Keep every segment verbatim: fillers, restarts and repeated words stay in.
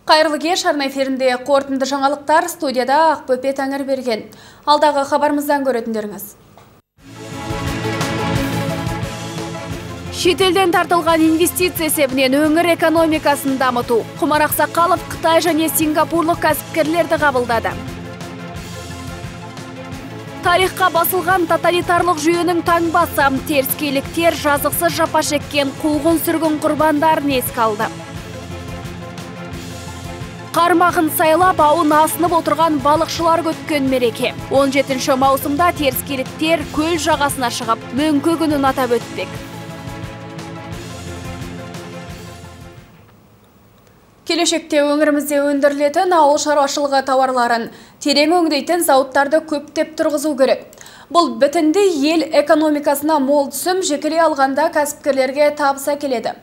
Қайырлы кеш, арна эфирінде қорытынды жаңалықтар, студияда Ақбөпе Тәңірберген. Алдағы хабарымыздан көретіндеріңіз. Шетелден тартылған инвестиция есебінен өңір экономикасын дамыту. Құмар Ақсақалов Қытай және Сингапурлық кәсіпкерлерді қабылдады. Тарихқа басылған тоталитарлық жүйенің таңбасы теріскейліктер жазықсыз жапа шеккен қуғын сүргін құрбандарын еске алды. Қармағын сайлап ауын асынып отырған балықшылар көткен мереке. он жетінші маусымда теріскейліктер көл жағасына шығып, мөңке күнін атап өтпек. Келешекте өңірімізде өндірілетін ауыл шаруашылығы тауарларын терең өңдейтін зауыттарды көптеп тұрғызу керек. Бұл бітінді ел экономикасына мол түсім жекелей алғанда кәсіпкерлерге табыс әкеледі.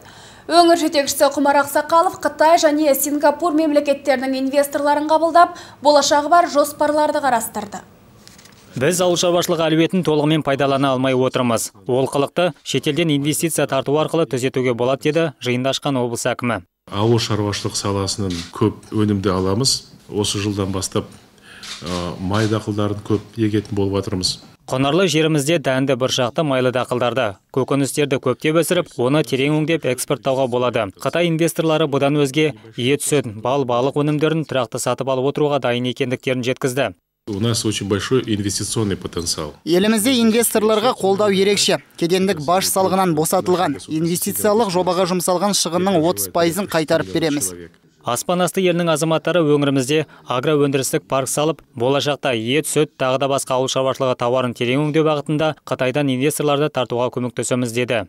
Өңір жетекшісі Құмар Ақсақалов Қытай және Сингапур мемлекеттерінің инвесторларын қабылдап, болашағы бар жоспарларды қарастырды. Біз ауыл шаруашылығы әлеуетін толығымен пайдалана алмай отырмыз. Олқылықты шетелден инвестиция тарту арқылы түзетуге болады деді жиында ашқан облыс әкімі. Ауыл шаруашылық саласынан көп өнімді аламыз. Осы жылдан бастап май дақылдарын көп егетін болып жатырмыз. Құнарлы жерімізде дәнді бұршақты майлы дақылдарды, көкөністерді көптеп өсіріп, оны терең өңдеп экспорттауға болады. Қытай инвесторлары бұдан өзге ет, сүт, бал, балық өнімдерін тұрақты сатып алып отыруға дайын екендіктерін жеткізді. У нас очень большой инвестиционный потенциал. Елімізде инвесторларға қолдау ерекше. Кедендік баж салығынан босатылған, инвестициялық жобаға жұмсалған шығынның отыз пайызын қайтарып береміз. Аспан асты елінің азаматтары өңірімізде агроөндірістік парк салып, болашақта ет, сүт, тағы да басқа ауыл шаруашылығы тауарын терең өңдеу бағытында Қытайдан инвесторларды тартуға көмектесеміз деді.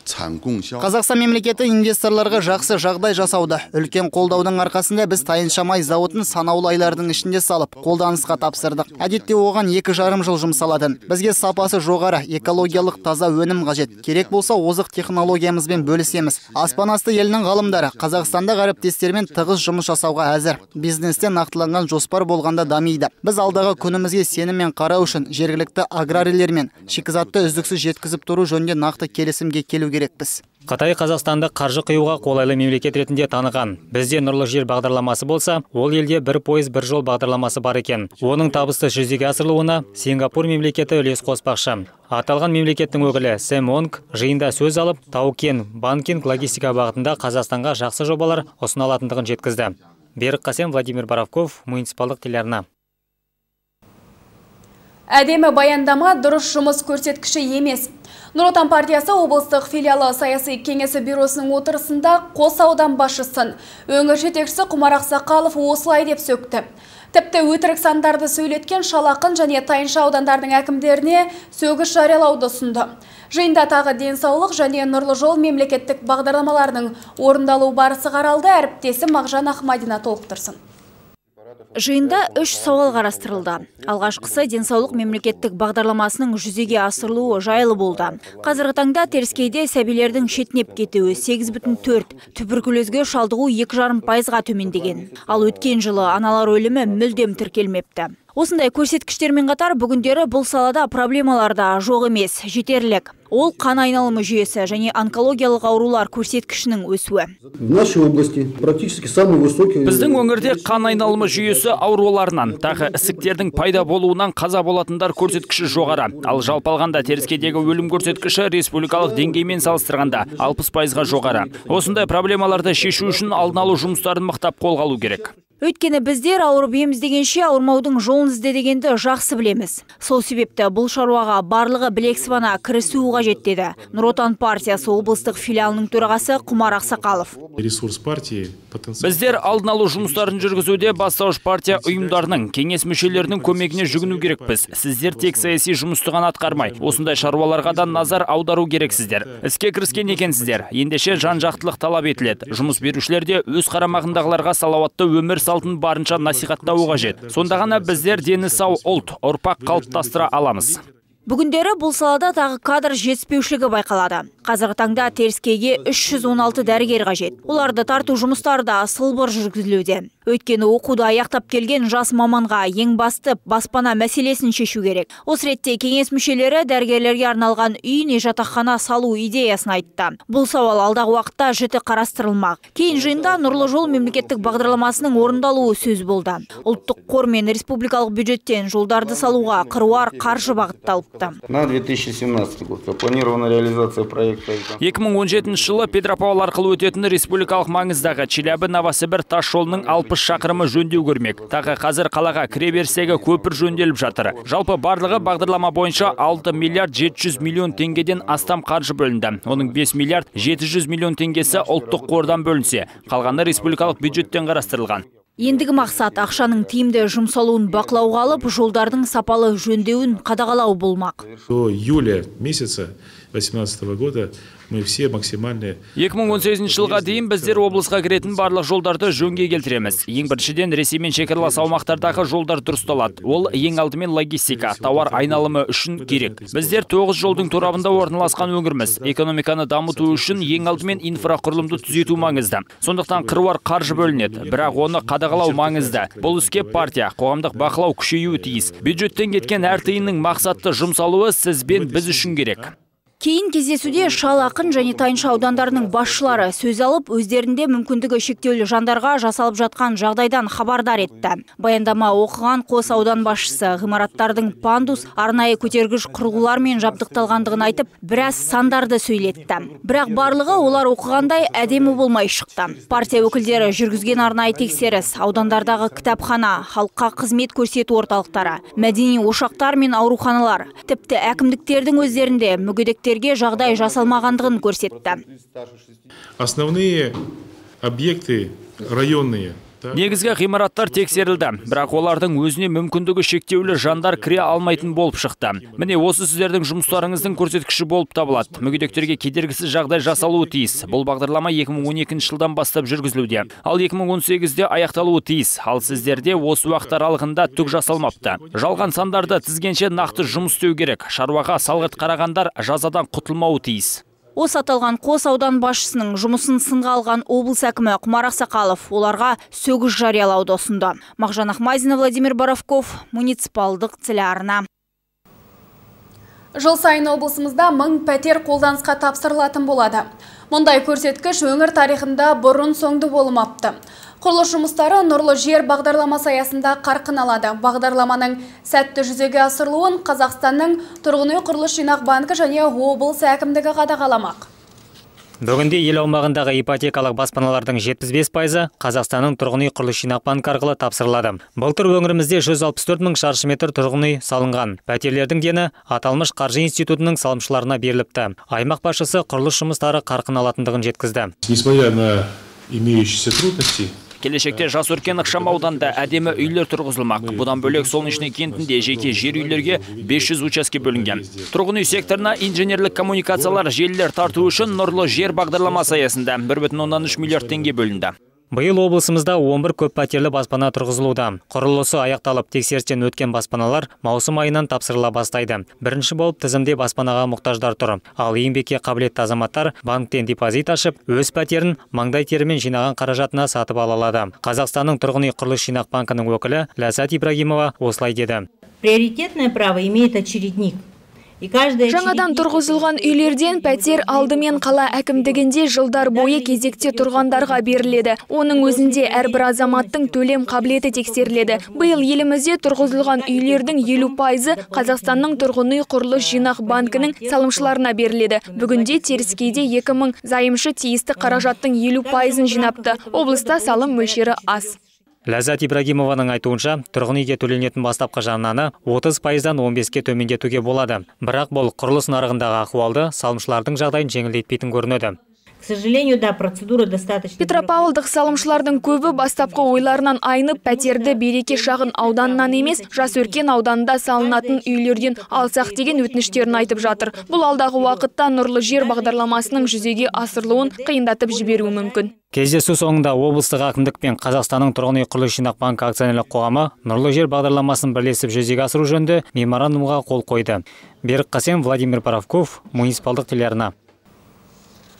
Қазақстан мемлекеті инвесторларға жақсы жағдай жасауда. Үлкен қолдаудың арқасында біз тайыншамай зауытын санаулы айлардың ішінде салып, қолданысқа тапсырдық. Әдетте оған екі жарым жыл жұмсалатын. Бізге сапасы жоғары, экологиялық таза өнім қажет. Керек болса, озық технологиямызбен бөлісеміз. Аспан асты елінің ғалымдары Қазақстанда әріптестермен тығыз жұмыс жасауға әзір. Бизнесте нақтыланған жоспар болғанда дамиды. Біз алдағы күнімізге сеніммен қарау үшін жергілікті аграрийлермен шикізатты үздіксіз жеткізіп тұру жөнінде нақты келісімге келу керекпіз. Қытай Қазақстанды қаржы құюға қолайлы мемлекет ретінде таныған. Бізде нұрлы жер бағдарламасы болса, ол елде бір пойыз бір жол бағдарламасы бар екен. Оның табысты жүзеге асырылуына Сингапур мемлекеті үлес қоспақшы. Аталған мемлекеттің өкілі Сэм Онг жиында сөз алып, тау-кен, банкинг, логистика бағытында Қазақстанға жақсы жобалар ұсына алатындығын жеткізді. Берік Қасен, Владимир Боровков, муниципалдық телеарна. Әдемі баяндама дұрыс жұмыс көрсеткіші емес. Нұр Отан партиясы облыстық филиалы саяси кеңесі бюросының отырысында қос аудан басшысын өңір жетекшісі Құмар Ақсақалов осылай деп сөкті. Тіпті өтірік сандарды сөйлеткен Шалақын және Тайынша аудандардың әкімдеріне сөгіс жариялауды ұсынды. Жиында тағы денсаулық және нұрлы жол мемлекеттік бағдарламаларының орындалу барысы қаралды. Әріптесі Мағжан Ахмадина толықтырсын. Жиында үш сауал қарастырылды. Алғашқысы денсаулық мемлекеттік бағдарламасының жүзеге асырылуы жайлы болды. Қазіргі таңда теріскейде сәбилердің шетінеп кетуі сегіз бүтін төрт, туберкулезге шалдығу екі жарым пайызға төмендеген. Ал өткен жылы аналар өлімі мүлдем тіркелмепті. Осындай көрсеткіштермен қатар бүгіндері бұл салада проблемаларда жоқ емес, жетерлік. Ол қан айналымы жүйесі және онкологиялық аурулар көрсеткішінің өсуі. Біздің өңірде қан айналымы жүйесі ауруларынан, тағы ісіктердің пайда болуынан қаза болатындар көрсеткіші жоғары. Ал жалпы алғанда теріскейдегі өлім көрсеткіші республикалық деңгеймен салыстырғанда алпыс пайызға жоғары. Осындай проблемаларды шешу үшін алдын алу жұмыстарын мықтап қолға алу керек. Өйткені біздер ауырып ем іздегенше ауырмаудың жолын ізде дегенді жақсы білеміз. Сол себепті бұл шаруаға барлығы білек сыбана кірісуі қажет деді Нұр Отан партиясы облыстық филиалының төрағасы Құмар Ақсақалов. Біздер алдын алу жұмыстарын жүргізуде бастауыш партия ұйымдарының, кеңес мүшелерінің көмегіне жүгіну керекпіз. Сіздер тек саяси жұмысты ғана атқармай, осындай шаруаларға да назар аудару керексіздер. Іске кіріскен екенсіздер. Ендеше жан-жақтылық талап етіледі. Жұмыс берушілерде өз қарамағындағыларға салауатты өмір салтын барынша насихаттауы қажет. Сонда ғана біздер дені сау ұлт, ұрпақ қалыптастыра аламыз. Бүгіндері бұл салада тағы кадр жетіспеушілігі байқалады. Қазіргі таңда теріскейге үш жүз он алты дәрігер қажет. Оларды тарту жұмыстары да сылбыр жүргізілуде. Өйткені оқуды аяқтап келген жас маманға ең басты баспана мәселесін шешу керек. Осы ретте кеңес мүшелері дәрігерлерге арналған үй не жатақхана салу идеясын айтты. Бұл сауал алдағы уақытта жіті қарастырылмақ. Кейін жиында Нұрлы жол мемлекеттік бағдарламасының орындалуы сөз болды. Ұлттық қор мен республикалық бюджеттен жолдарды салуға қыруар қаржы бағытталыпты. На две тысячи семнадцатый год запланирована реализация проекта. екі мың он жетінші жылы Петропавл арқылы өтетін республикалық маңыздағы Челябі-Новосібір тас жолының алпыс шақырымы жөндеу көрмек. Тағы қазір қалаға кіреберістегі көпір жөнделіп жатыр. Жалпы барлығы бағдарлама бойынша алты миллиард жеті жүз миллион теңгеден астам қаржы бөлінді. Оның бес миллиард жеті жүз миллион теңгесі ұлттық қордан бөлінсе, қалғаны республикалық бюджеттен қарастырылған. Ендігі мақсат ақшаның тиімді жұмсалуын бақылауға алып, жолдардың сапалы жөндеуін қадағалау болмақ. До июля месяца две тысячи восемнадцатого года мы все максимальные. екі мың он сегізінші жылға дейін біздер облысқа кіретін барлық жолдарды жөнге келтіреміз. Ең біріншіден Ресеймен шекаралас аумақтардағы жолдар дұрысталады. Ол ең алдымен логистика, тауар айналымы үшін керек. Біздер тоғыз жолдың торабында орналасқан өңірміз. Экономиканы дамыту үшін ең алдымен инфрақұрылымды түзету маңызды. Сондықтан қыруар қаржы бөлінеді, бірақ оны қадағалау маңызды. Бұл іске партия, қоғамдық бақылау күшеюі тиіс. Бюджеттен кеткен әр тиынның мақсатты жұмсалуы сіз бен біз үшін керек. Кейін кездесуде Шал Ақын және Тайынша аудандарының басшылары сөз алып, өздерінде мүмкіндігі шектеулі жандарға жасалып жатқан жағдайдан хабардар етті. Баяндама оқыған Қос аудан басшысы ғимараттардың пандус, арнайы көтергіш құрылғылармен жабдықталғандығын айтып, біраз сандарды сөйлетті. Бірақ барлығы олар оқығандай әдемі болмай шықты. Партия өкілдері жүргізген арнайы тексеріс, аудандардағы кітапхана, халыққа қызмет көрсету орталықтары, мәдени ошақтар мен ауруханалар, тіпті әкімдіктердің өздерінде мүгедектер жағдай жасалмағандығын көрсетті. Основные объекты районные. Негізгі ғимараттар тексерілді, бірақ олардың өзіне мүмкіндігі шектеулі жандар кіре алмайтын болып шықты. Міне осы сіздердің жұмыстарыңыздың көрсеткіші болып табылады. Мүгедектерге кедергісіз жағдай жасалуы тиіс. Бұл бағдарлама екі мың он екінші жылдан бастап жүргізілуде. Ал екі мың он сегізде аяқталуы тиіс. Ал сіздерде осы уақыт аралығында түк жасалмапты. Жалған сандарды тізгенше нақты жұмыс істеу керек. Шаруаға салғырт қарағандар жазадан құтылмауы тиіс. Осы аталған Қос аудан басшысының жұмысын сынға алған облыс әкімі Құмар Ақсақалов оларға сөгіс жариялауды ұсынды. Мағжан Ахмазина, Владимир Боровков, муниципалдық телеарна. Жыл сайын облысымызда мың пәтер қолданысқа тапсырылатын болады. Мұндай көрсеткіш өңір тарихында бұрын соңды болмапты. Құрылыс жұмыстары Нұрлы жер бағдарламасы аясында қарқын алады. Бағдарламаның сәтті жүзеге асырылуын Қазақстанның тұрғын үй құрылыс жинақ банкі және облыс әкімдігі қадағаламақ. Бүгінде ел аумағындағы ипотекалық баспаналардың жетпіс бес пайызы Қазақстанның тұрғын үй құрылыс жинақ банкі арқылы тапсырылады. Былтыр өңірімізде жүз алпыс төрт мың шаршы метр тұрғын үй салынған. Пәтерлердің дені аталмыш қаржы институтының салымшыларына беріліпті. Аймақ басшысы құрылыс жұмыстары қарқын алатындығын жеткізді. Несмотря на имеющиеся трудности, Келешекте Жас Өркен ықшам ауданында әдемі үйлер тұрғызылмақ. Бұдан бөлек Солнечный кентінде жеке жер үйлерге бес жүз учаске бөлінген. Тұрғын үй секторына инженерлік коммуникациялар желілер тарту үшін Нұрлы жер бағдарламасы аясында бір бүтін оннан үш миллиард теңге бөлінді. Биыл облысымызда он бір көп пәтерлі баспана тұрғызылуда. Құрылысы аяқталып тексерістен өткен баспаналар маусым айынан тапсырыла бастайды. Бірінші болып тізімде баспанаға мұқтаждар тұр. Ал еңбекке қабілетті азаматтар банктен депозит ашып, өз пәтерін маңдай терімен жинаған қаражатына сатып ала алады. Қазақстанның тұрғын үй құрылыс жинақ банкінің өкілі Ләззат Ибрагимова осылай деді. Приоритетное право имеет очередник. Жаңадан тұрғызылған үйлерден пәтер алдымен қала әкімдігінде жылдар бойы кезекте тұрғандарға беріледі. Оның өзінде әрбір азаматтың төлем қабілеті тексеріледі. Биыл елімізде тұрғызылған үйлердің елу пайызы Қазақстанның тұрғын үй құрылыс жинақ банкінің салымшыларына беріледі. Бүгінде Теріскейде екі мың зайымшы тиісті қаражаттың елу пайызын жинапты. Облыста салым мөлшері аз. Ләззат Ибрагимованың айтуынша, тұрғын үйге төленетін бастапқы жарнаны отыз пайыздан он беске төмендетуге болады. Бірақ бұл құрылыс нарығындағы ахуалды салымшылардың жағдайын жеңілдетпейтін көрінеді. К сожалению, да, процедура достаточно. Петропавлдық салымшылардың көбі бастапқы ойларынан айнып, пәтерді Береке шағын ауданынан емес, Жас Өркен ауданында салынатын үйлерден алсақ деген өтініштерін айтып жатыр. Бұл алдағы уақытта Нұрлы жер бағдарламасының жүзеге асырылуын қиындатып жіберуі мүмкін. Кездесу соңында облыстық әкімдік пен Қазақстанның тұрғын үй құрылыс жинақ банкі акционерлік қоғамы Нұрлы жер бағдарламасын бірлесіп жүзеге асыру жөнінде меморандумға қол қойды. Берік Қасен, Владимир Боровков, муниципалдық телеарна.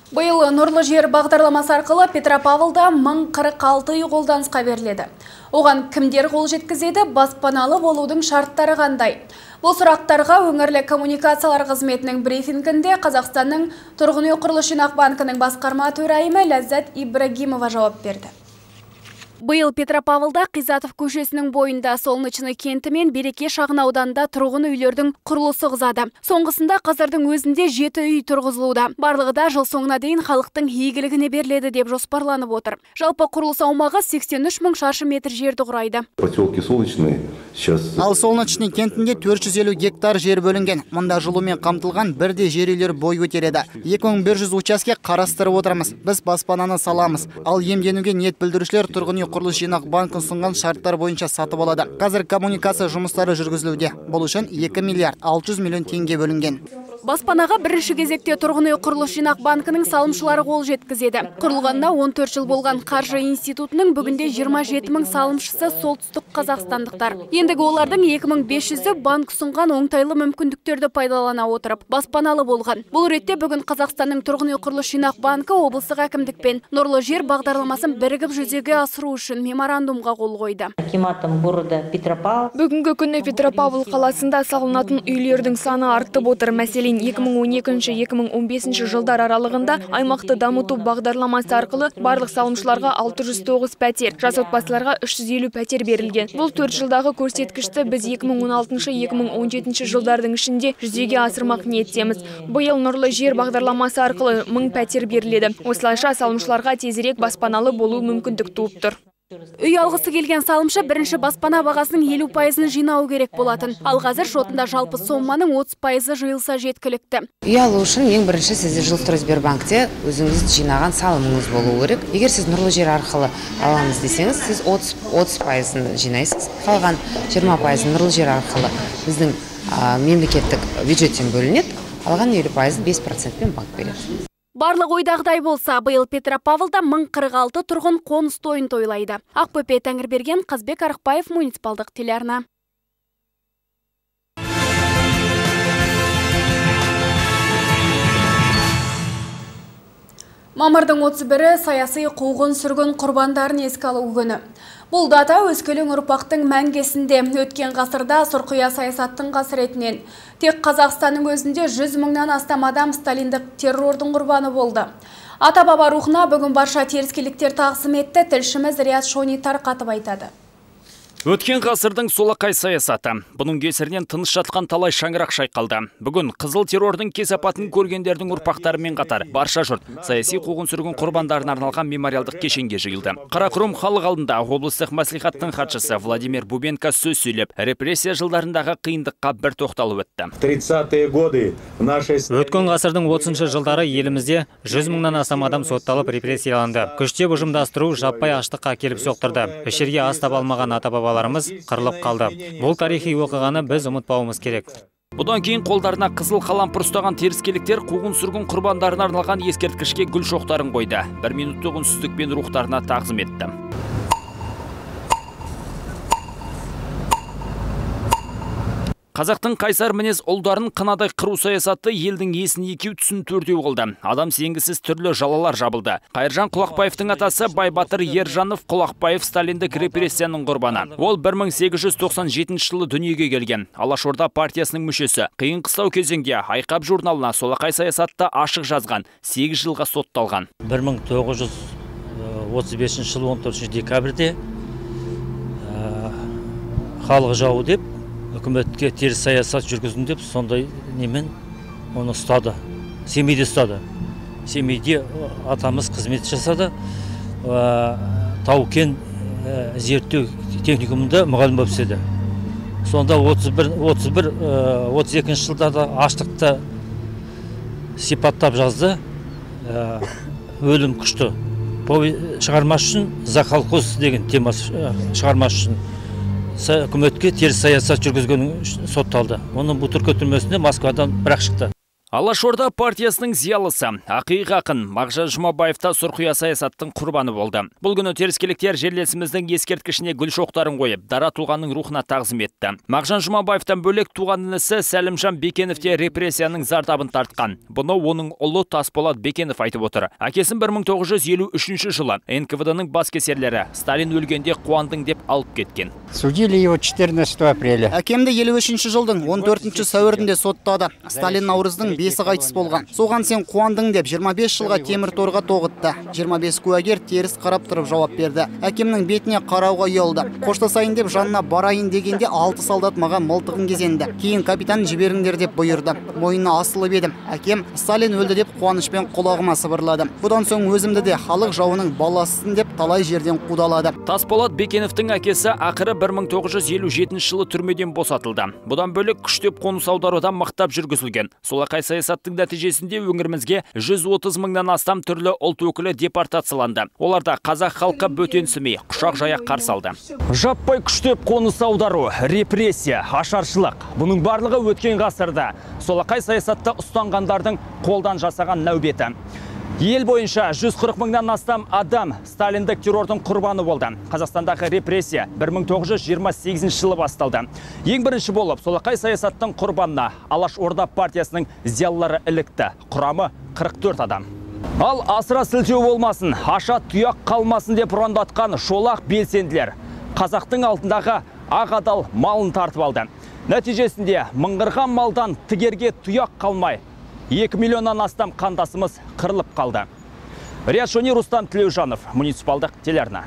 Биыл Нұрлы жер бағдарламасы арқылы Петропавлда мың қырық алты үй қолданысқа беріледі. Оған кімдер қол жеткізеді, баспаналы болудың шарттары қандай? Бұл сұрақтарға өңірлік коммуникациялар қызметінің брифингінде Қазақстанның Тұрғын үй құрылыс жинақ банкінің басқарма төрайымы Ләззат Ибрагимова жауап берді. Биыл Петропавлда Қизатов көшесінің бойында Солнечный кенті мен Береке шағын ауданында тұрғын үйлердің құрылысы қызады. Соңғысында қазірдің өзінде жеті үй тұрғызылуда. Барлығы да жыл соңына дейін халықтың игілігіне беріледі деп жоспарланып отыр. Жалпы құрылыс аумағы сексен үш мың шаршы метр жерді құрайды. Поселке Солнечный сейчас... Ал Солнечный кентінде төрт жүз елу гектар жер бөлінген. Мұнда жылумен қамтылған бірде жер үйлер бой көтереді. екі мың бір жүз учаске қарастырып отырмыз. Біз баспананы саламыз. Ал емденуге ниет білдірушілер тұрғын үй құрылыс жинақ банкін ұсынған шарттар бойынша сатып алады. Қазір коммуникация жұмыстары жүргізілуде. Бұл үшін екі миллиард алты жүз миллион теңге бөлінген. Баспанаға бірінші кезекте тұрғын үй құрылыс жинақ банкінің салымшылары қол жеткізеді. Құрылғанына он төрт жыл болған Қаржы институтының бүгінде жиырма жеті мың салымшысы солтүстік қазақстандықтар. Ендігі олардың екі мың бес жүзі банк ұсынған оңтайлы мүмкіндіктерді пайдалана отырып баспаналы болған. Бұл ретте бүгін Қазақстанның Тұрғын үй құрылыс жинақ банкі облыстық әкімдікпен Нұрлы жер бағдарламасын бірігіп жүзеге асыру үшін меморандумға қол қойды. Бүгінгі күні Петропавл қаласында салынатын үйлердің саны артып отыр. Мәселен, екі мың он екінші - екі мың он бесінші жылдар аралығында аймақты дамыту бағдарламасы арқылы барлық салымшыларға алты жүз тоғыз пәтер, жас отбасыларға үш жүз елу пәтер берілген. Бұл төрт жылдағы көрсеткішті біз екі мың он алтыншы - екі мың он жетінші жылдардың ішінде жүзеге асырмақ ниеттеміз. Биыл Нұрлы жер бағдарламасы арқылы мың пәтер беріледі. Осылайша салымшыларға тезірек баспаналы болу мүмкіндік туып тұр. Үй алғысы келген салымшы бірінші баспана бағасының елу пайызын жинау керек болатын. Ал қазір шотында жалпы соманың отыз пайызы жиылса жеткілікті. Үй алу үшін ең бірінші сізде Жилстройсбербанкте өзіңіз жинаған салымыңыз болу керек. Егер сіз Нұрлы жер арқылы аламыз десеңіз, сіз отыз пайызын жинайсыз. Қалған жиырма пайызын Нұрлы жер арқылы біздің мемлекеттік бюджеттен бөлінеді. Алған елу пайызын бес процентпен банк береді. Барлық ойдағыдай болса, биыл Петропавлда мың қырық алты тұрғын қоныс тойын тойлайды. Ақбөпе Тәңірберген, Қазбек Арықбаев, муниципалдық телеарна. Мамырдың отыз бірі саяси қуғын сүргін құрбандарын еске алу күні. Бұл дата өскелең ұрпақтың мәңгесінде. Өткен ғасырда сұрқия саясаттың қасіретінен тек Қазақстанның өзінде жүз мыңнан астам адам сталиндік террордың құрбаны болды. Ата-баба рухына бүгін барша теріскейліктер тағзым етті. Тілшіміз Рият Шони тарқатып айтады. Өткен ғасырдың солақай саясаты. Бұның кесірінен тыныш жатқан талай шаңырақ шайқалды. Бүгін қызыл террордың кесапатын көргендердің ұрпақтарымен қатар барша жұрт саяси қуғын сүргін құрбандарына арналған мемориалдық кешенге жиылды. Қарақұрым халық алдында облыстық мәслихаттың хатшысы Владимир Бубенко сөз сөйлеп, репрессия жылдарындағы қиындыққа бір тоқталып өтті. Өткен ғасырдың отызыншы жылдары елімізде жүз мыңнан астам адам сотталып репрессияланды. Күштеп ұжымдастыру жаппай аштыққа келіп соқтырды. Ішерге ас таба алмаған ата-баба қырылып қалды. Бұл тарихи оқиғаны біз ұмытпауымыз керек. Бұдан кейін қолдарына қызыл қалампыр ұстаған теріскейліктер қуғын сүргін құрбандарына арналған ескерткішке гүл шоқтарын қойды. Бір минуттық үнсіздікпен рухтарына тағзым етті. Қазақтың қайсар мінез ұлдарын қынадай қыру саясаты елдің есін екеу түсін төртеу қылды. Адам сенгісіз түрлі жалалар жабылды. Қайыржан Құлақбаевтың атасы Байбатыр Ержанов Құлақбаев сталиндік репрессияның құрбаны. Ол бір мың сегіз жүз тоқсан жетінші жылы дүниеге келген. Алашорда партиясының мүшесі. Қиын қыстау кезеңде Айқап журналына солақай саясатты ашық жазған, сегіз жылға сотталған. бір мың тоғыз жүз отыз бесінші жылы он төртінші декабрьде халық жауы деп үкіметке теріс саясат жүргізін деп сондай немен оны ұстады. Семейде ұстады. Семейде атамыз қызмет жасады. Тау-кен зерттеу техникумында мұғалім болып істеді. Сонда отыз бір отыз екінші жылдарда аштықты сипаттап жазды. Өлім күшті. Шығармаш үшін Заколхоз деген тема шығармаш үшін үкіметке теріс саясат жүргізген сотталды. Оның Бутырка түрмесінде Москвадан бірақ шықты. Алашорда партиясының зиялысы, ақиық ақын Мағжан Жұмабаевта сұрқия саясаттың құрбаны болды. Бұл күні теріскейліктер жерлесіміздің ескерткішіне гүл шоқтарын қойып, дара тұлғаның рухына тағзым етті. Мағжан Жұмабаевтан бөлек туған інісі Сәлімжан Бекенов те репрессияның зардабын тартқан. Бұны оның ұлы Тасболат Бекенов айтып отыр. Әкесін бір мың тоғыз жүз елу үшінші жылы эн ка вэ дэ-ның баскесерлері Сталин өлгенде қуандың деп алып кеткен. Судили его четырнадцатого апреля. Әкемді елу үшінші жылдың он төртінші сәуірінде соттады. Сталин Наурыздың бесі қайтыс болған. Соған сен қуандың деп жиырма бес жылға темір торға тоғытты. жиырма бес куәгер теріс қарап тұрып жауап берді. Әкемнің бетіне қарауға ұялды. Қоштасайын деп жанына барайын дегенде алты солдат маған мылтығын кезенді. Кейін капитан жіберіңдер деп бұйырды. Мойнына асылып едім. Әкем Сталин өлді деп қуанышпен құлағыма сыбырлады. Бұдан соң өзімді де халық жауының баласысын деп талай жерден қудалады. Тасболат Бекеновтың әкесі ақыры бір мың тоғыз жүз елу жетінші жылы түрмеден босатылды. Бұдан бөлек күштеп қоныс аударудан мықтап жүргізілген. Солақай саясаттың нәтижесінде өңірімізге жүз отыз мыңнан астам түрлі ұлт өкілі депортацияланды. Оларда қазақ халқы бөтенсімей, құшақ жая қарсы алды. Жаппай күштеп қоныс аудару, репрессия, ашаршылық. Бұның барлығы өткен ғасырда солақай саясатта ұстанғандардың қолдан жасаған нәубеті. Ел бойынша жүз қырық мыңнан астам адам сталиндік террордың құрбаны болды. Қазақстандағы репрессия бір мың тоғыз жүз жиырма сегізінші жылы басталды. Ең бірінші болып солақай саясаттың құрбанына Алашорда партиясының зиялылары ілікті. Құрамы қырық төрт адам. Ал асыра сілтеу болмасын, аша тұяқ қалмасын деп ұрандатқан шолақ белсенділер қазақтың алдындағы ақ адал малын тартып алды. Нәтижесінде мыңғырған малдан тігерге тұяқ қалмай екі миллионнан астам қандасымыз қырылып қалды. Риат Шони, Рустам Тілеужанов, муниципалдық телеарна.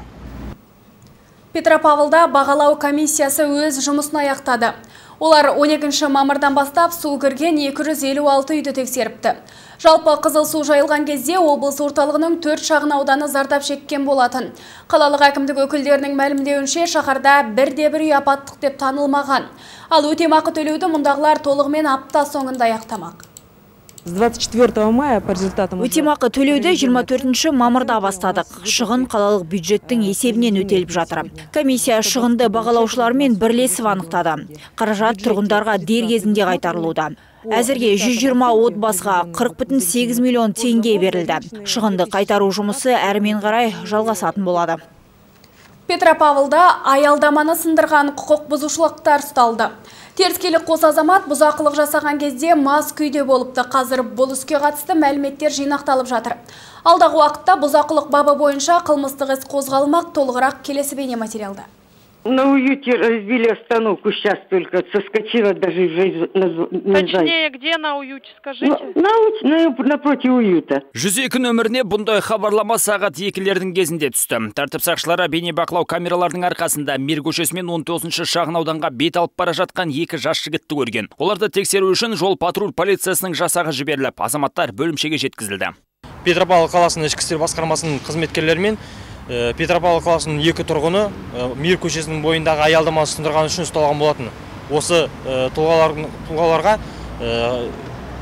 Петропавлда бағалау комиссиясы өз жұмысын аяқтады. Олар он екінші мамырдан бастап су кірген екі жүз елу алты үйді тексеріпті. Жалпы қызыл су жайылған кезде облыс орталығының төрт шағын ауданы зардап шеккен болатын. Қалалық әкімдік өкілдерінің мәлімдеуінше шаһарда бірде-бір үй апаттық деп танылмаған. Ал өтемақы төлеуді мұндағылар толығымен апта соңында аяқтамақ. С двадцать четвёртого мая по результатам өтемақы төлеуді жиырма төртінші мамырда бастадық. Шығын қалалық бюджеттің есебінен өтеліп жатыр. Комиссия шығынды бағалаушылармен бірлесіп анықтады. Қаражат тұрғындарға дер кезінде қайтарылуда. Әзірге жүз жиырма отбасыға қырық бүтін сегіз миллион теңге берілді. Шығынды қайтару жұмысы әрмен қарай жалғасатын болады. Петропавлда аялдаманы сындырған құқық бұзушылықтар ұсталды. Теріскейлік қос азамат бұзақылық жасаған кезде мас күйде болыпты. Қазір бұл іске қатысты мәліметтер жинақталып жатыр. Алдағы уақытта бұзақылық бабы бойынша қылмыстық іс қозғалмақ. Толығырақ келесі бейне материалда. На уюте разбили остановку сейчас только, соскочила даже жизнь. Точнее, где на уюте, скажите? На, на, напротив уюта. жүз екі нөміріне бұндай хабарлама сағат екілердің кезінде түсті. Тәртіп сақшылары бейнебақылау камералардың арқасында Мир көшесімен он тоғызыншы шағын ауданға бет алып бара жатқан екі жас жігітті көрген. Оларды тексеру үшін жол патруль полициясының жасағы жіберіліп, азаматтар бөлімшеге жеткізілді. Петропавл қаласының ішкі істер басқармасының қызметкерлерімен Петропавл қаласының екі тұрғыны Мир көшесінің бойындағы аялдаманы сындырған үшін ұсталған болатын. Осы тұлғаларға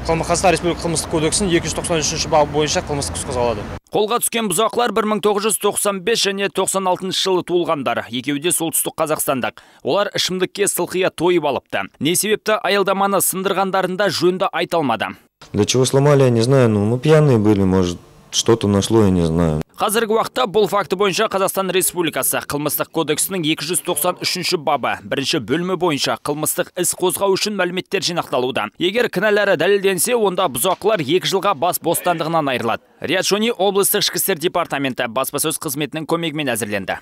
Қазақстан Республикасы қылмыстық кодексінің екі жүз тоқсан үшінші бабы бойынша қылмыстық іс қозғалады. Қолға түскен бұзақылар бір мың тоғыз жүз тоқсан бес және тоқсан алтыншы жылы туылғандар. Екеуі де солтүстік қазақстандық. Олар ішімдікке сылқия тойып алыпты. Не себепті аялдаманы сындырғандарында жөнді айта алмады. Для чего сломали, я не знаю, но мы пьяные были, может, что-то нашло, я не знаю. Қазіргі уақытта бұл факті бойынша Қазақстан Республикасы қылмыстық кодексінің екі жүз тоқсан үшінші бабы бірінші бөлімі бойынша қылмыстық іс қозғау үшін мәліметтер жинақталуда. Егер кінәлары дәлелденсе, онда бұзақылар екі жылға бас бостандығынан айырылады. Риат Шони, облыстық ішкі істер департаменті баспасөз қызметінің көмегімен әзірленді.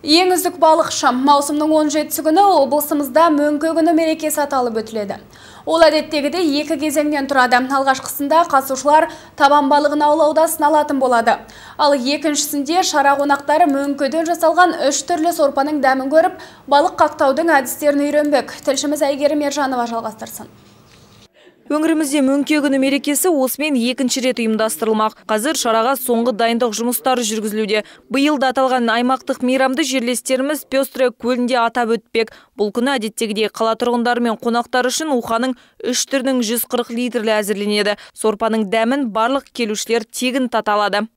Ең үздік балықшы маусымның он жетісі күні облысымызда мөңке күні мерекесі аталып өтіледі. Ол әдеттегіде екі кезеңнен тұрады. Алғашқысында қатысушылар табан балығын аулауда сыналатын болады. Ал екіншісінде шара қонақтары мөңкеден жасалған үш түрлі сорпаның дәмін көріп, балық қақтаудың әдістерін үйренбек. Тілшіміз Әйгерім Ержанова жалғастырсын. Өңірімізде мөңке күні мерекесі осымен екінші рет ұйымдастырылмақ. Қазір шараға соңғы дайындық жұмыстары жүргізілуде. Биыл да аталған аймақтық мейрамды жерлестеріміз Пестрая көлінде атап өтпек. Бұл күні әдеттегідей қала тұрғындары мен қонақтар үшін уханың үш түрінің жүз қырық литрлі әзірленеді. Сорпаның дәмін барлық келушілер тегін тата алады.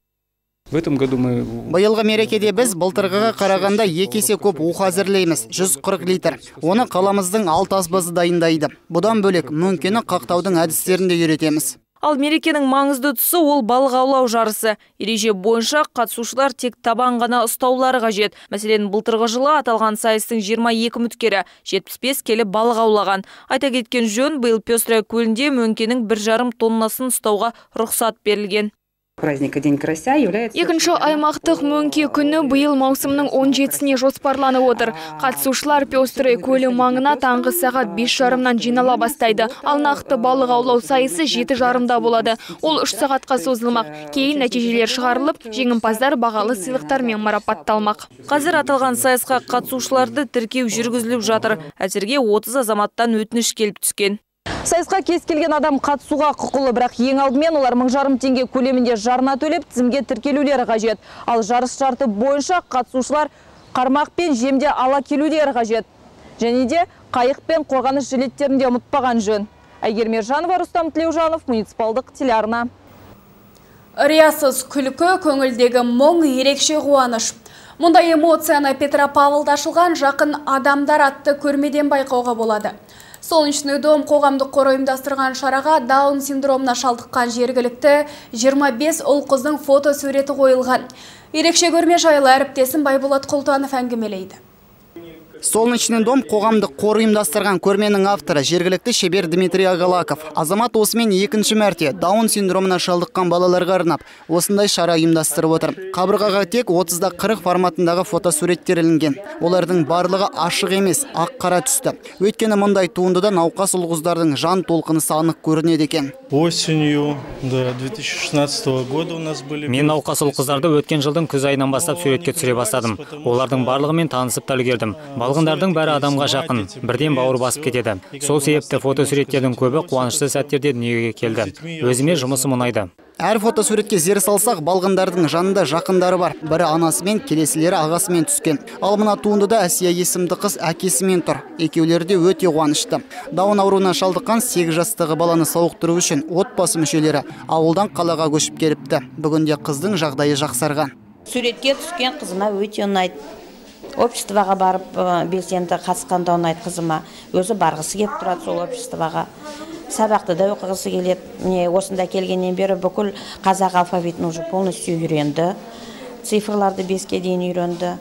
В этом году мы... Биылғы мерекеде біз былтырғыға қарағанда екі есе көп уық әзірлейміз, жүз қырық литр. Оны қаламыздың алты аспазы дайындайды. Бұдан бөлек мөңкені қақтаудың әдістерін де үйретеміз. Ал мерекенің маңызды тұсы ол балық аулау жарысы. Ереже бойынша қатысушылар тек табан ғана ұстаулары қажет. Мәселен, былтырғы жылы аталған сайыстың жиырма екі үміткері жетпіс бес келі балық аулаған. Айта кеткен жөн, биыл Пестрая көлінде мөңкенің бір жарым тоннасын ұстауға рұқсат берілген. Екінші аймақтық мөңке күні биыл маусымның он жетісіне жоспарланып отыр. Қатысушылар Пестрая көлі маңына таңғы сағат бес жарымнан жинала бастайды. Ал нақты балық аулау сайысы жеті жарымда болады. Ол үш сағатқа созылмақ. Кейін нәтижелер шығарылып, жеңімпаздар бағалы сыйлықтармен марапатталмақ. Қазір аталған сайысқа қатысушыларды тіркеу жүргізіліп жатыр. Әзірге отыз азаматтан өтініш келіп түскен. Сайысқа кез келген адам қатысуға құқылы, бірақ ең алдымен олар мың жарым теңге көлемінде жарна төлеп тізімге тіркелулері қажет. Ал жарыс шарты бойынша қатысушылар қармақ пен жемде ала келулері қажет. Және де қайық пен қорғаныс жилеттерінде ұмытпаған жөн. Әйгерім Ержанова, Рустам Тілеужанов, муниципалдық телеарна. Риясыз күлкі, көңілдегі мұң, ерекше қуаныш. Мұндай эмоцияны Петропавлда ашылған жақын адамдар атты көрмеден байқауға болады. Солнечный дом қоғамдық қоры ұйымдастырған шараға Даун синдромына шалдыққан жергілікті жиырма бес ұл қыздың фото суреті қойылған. Ерекше көрме жайлы әріптесім Байболат Құлтанов әңгімелейді. Солнечный дом қоғамдық қор ұйымдастырған көрменің авторы жергілікті шебер Дмитрий Агалаков. Азамат осымен екінші мәрте Даун синдромына шалдыққан балаларға арнап осындай шара ұйымдастырып отыр. Қабырғаға тек отызда қырық форматындағы фотосуреттер ілінген. Олардың барлығы ашық емес, ақ қара түсті. Өйткені мұндай туындыда науқас ұл-қыздардың жан толқынысы анық көрінеді екен. Осенью до две тысячи шестнадцатого года у нас были... Мен науқас ұл-қыздарды өткен жылдың күз айынан бастап суретке түсіре бастадым. Олардың барлығымен танысып та үлгердім. Балғындардың бәрі адамға жақын, бірден бауыр басып кетеді. Сол себепті фотосуреттердің көбі қуанышты сәттерде дүниеге келді. Өзіме жұмысым ұнайды. Әр фотосуретке зер салсақ, балғындардың жанында жақындары бар. Бірі анасымен, келесілері ағасымен түскен. Ал мына туындыда Әсия есімді қыз әкесімен тұр. Екеулері де өте қуанышты. Даун ауруына шалдыққан сегіз жастағы баланы сауықтыру үшін отбасы мүшелері ауылдан қалаға көшіп келіпті. Бүгінде қыздың жағдайы жақсарған. Суретке түскен қызыма өте ұнайды. Обществоға барып белсенді қатысқанда ұнайды қызыма. Өзі барғысы келіп тұрады сол обществоға. Сабақты да оқығысы келеді. Міне осында келгеннен бері бүкіл қазақ алфавитін уже полностью үйренді. Цифрларды беске дейін үйренді.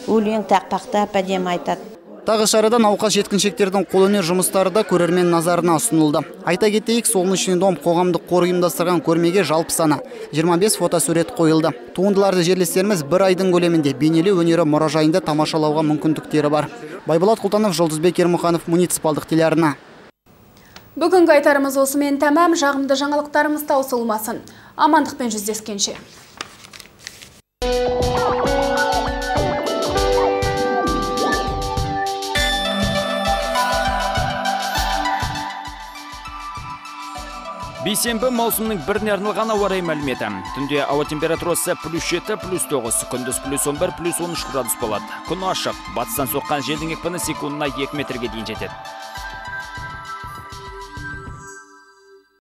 Өлең тақпақтап әдемі айтады. Тағы шарада науқас жеткіншектердің қолөнер жұмыстары да көрермен назарына ұсынылды. Айта кетейік, Солнечный дом қоғамдық қор ұйымдастырған көрмеге жалпы саны жиырма бес фотосурет қойылды. Туындыларды жерлестеріміз бір айдың көлемінде бейнелеу өнері мұражайында тамашалауға мүмкіндіктері бар. Байболат Құлтанов, Жұлдызбек Ермұханов, муниципалдық телеарна. Бүгінгі айтарымыз осымен тәмам, жағымды жаңалықтарымыз таусылмасын. Амандықпен жүздескенше. Бейсенбі маусымның біріне арналған ауа райы мәліметі. Түнде ауа температурасы плюс жеті, плюс тоғыз, күндіз плюс он бір, плюс он үш градус болады. Күн ашық, батыстан соққан желдің екпіні секундына екі метрге дейін жетеді.